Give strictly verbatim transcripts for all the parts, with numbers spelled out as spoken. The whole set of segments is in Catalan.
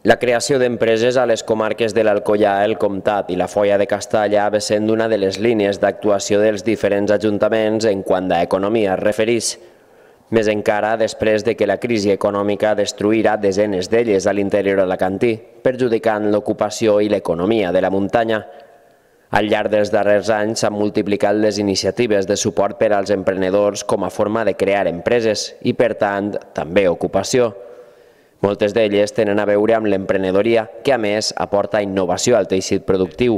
La creació d'empreses a les comarques de l'Alcoià, el Comtat i la Foia de Castalla ve sent una de les línies d'actuació dels diferents ajuntaments en quant a economia es refereix. Més encara després de que la crisi econòmica destruirà desenes d'elles a l'interior alacantí, perjudicant l'ocupació i l'economia de la muntanya. Al llarg dels darrers anys s'han multiplicat les iniciatives de suport per als emprenedors com a forma de crear empreses i, per tant, també ocupació. Moltes d'elles tenen a veure amb l'emprenedoria, que a més aporta innovació al teixit productiu.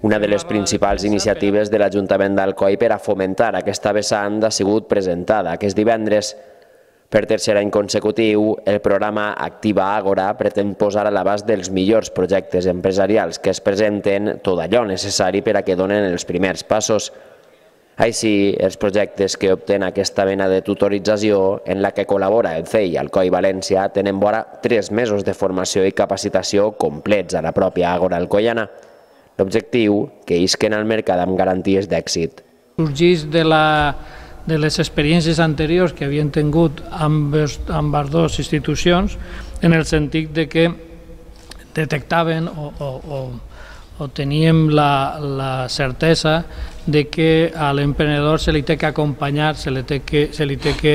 Una de les principals iniciatives de l'Ajuntament d'Alcoi per a fomentar aquesta vessant ha sigut presentada aquest divendres. Per tercer any consecutiu, el programa Activa Àgora pretén posar a l'abast dels millors projectes empresarials que es presenten tot allò necessari per a que donen els primers passos. Així, els projectes que obtenen aquesta mena de tutorització, en la que col·labora el C E I Alcoi València, tenen vora tres mesos de formació i capacitació complets a la pròpia Àgora alcoiana. L'objectiu, que isquen al mercat amb garanties d'èxit. Sorgeix de, la, de les experiències anteriors que havien tingut amb, amb les dues institucions, en el sentit de que detectaven o, o, o o teníem la, la certesa de que a l'emprenedor se li té que acompanyar, se li té que, se li té que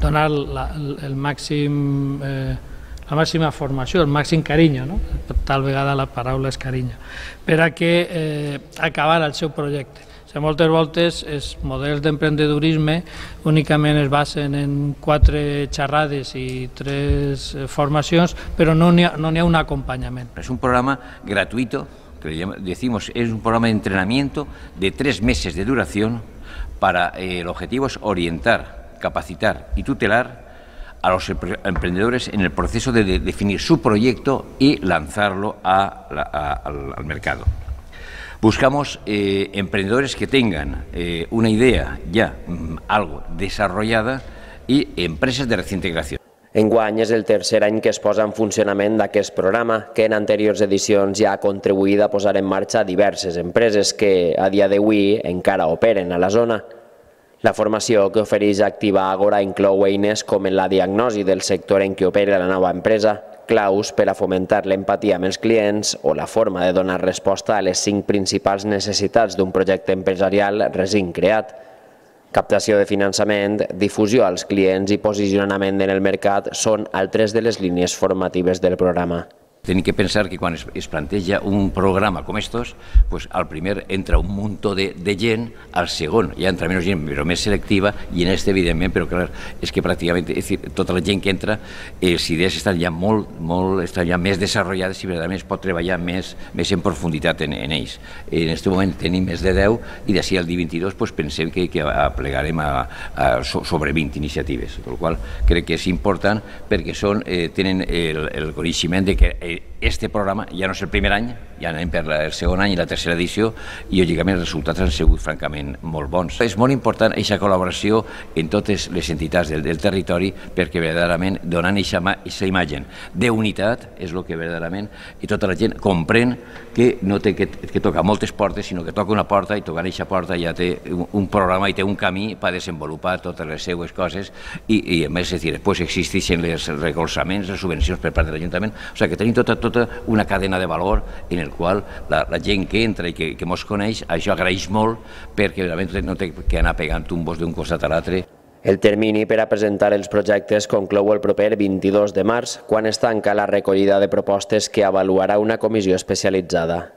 donar la, el màxim, eh, la màxima formació, el màxim carinyo, no? Tal vegada la paraula és carinyo, per a que eh, acabar el seu projecte. O sigui, moltes voltes els models d'emprendedorisme únicament es basen en quatre xerrades i tres formacions, però no n'hi ha, no n'hi ha un acompanyament. És un programa gratuito, que decimos es un programa de entrenamiento de tres meses de duración para eh, el objetivo es orientar, capacitar y tutelar a los emprendedores en el proceso de, de definir su proyecto y lanzarlo a la, a, al, al mercado. Buscamos eh, emprendedores que tengan eh, una idea ya, mm, algo desarrollada y empresas de reciente creación. Enguany és el tercer any que es posa en funcionament d'aquest programa, que en anteriors edicions ja ha contribuït a posar en marxa diverses empreses que a dia d'avui encara operen a la zona. La formació que ofereix Activa Àgora inclou eines com en la diagnosi del sector en què opera la nova empresa, claus per a fomentar l'empatia amb els clients o la forma de donar resposta a les cinc principals necessitats d'un projecte empresarial recent creat. Captació de finançament, difusió als clients i posicionament en el mercat són altres de les línies formatives del programa. Tenim que pensar que quan es, es planteja un programa com estos, pues al primer entra un muntó de, de gent, al segon ja entra menys gent, però més selectiva, i en este, evidentment, però clar, és que pràcticament és dir, tota la gent que entra, les idees estan ja molt, molt, estan ja més desenvolupades i verdaderament es pot treballar més, més en profunditat en, en ells. En aquest moment tenim més de deu i d'ací al dia vint-i-dos pues, pensem que, que aplegarem a, a, sobre vint iniciatives, per la qual crec que és important perquè són, eh, tenen el, el coneixement de que eh, este programa ja no és el primer any, ja anem per el segon any i la tercera edició i lògicament els resultats han sigut francament molt bons. És molt important aquesta col·laboració en totes les entitats del, del territori perquè verdaderament donant aquesta imatge d'unitat és el que verdaderament i tota la gent comprèn que no té que, que tocar moltes portes, sinó que toca una porta i tocant aquesta porta ja té un, un programa i té un camí per desenvolupar totes les seues coses i, i a més, és dir, després existeixen els recolzaments, les subvencions per part de l'Ajuntament, o sigui que tenim tota, tota una cadena de valor en el qual la, la gent que entra i que, que mos coneix, això agraeix molt perquè realment no té que anar pegant tumbos d'un costat a l'altre. El termini per a presentar els projectes conclou el proper vint-i-dos de març, quan es tanca la recollida de propostes que avaluarà una comissió especialitzada.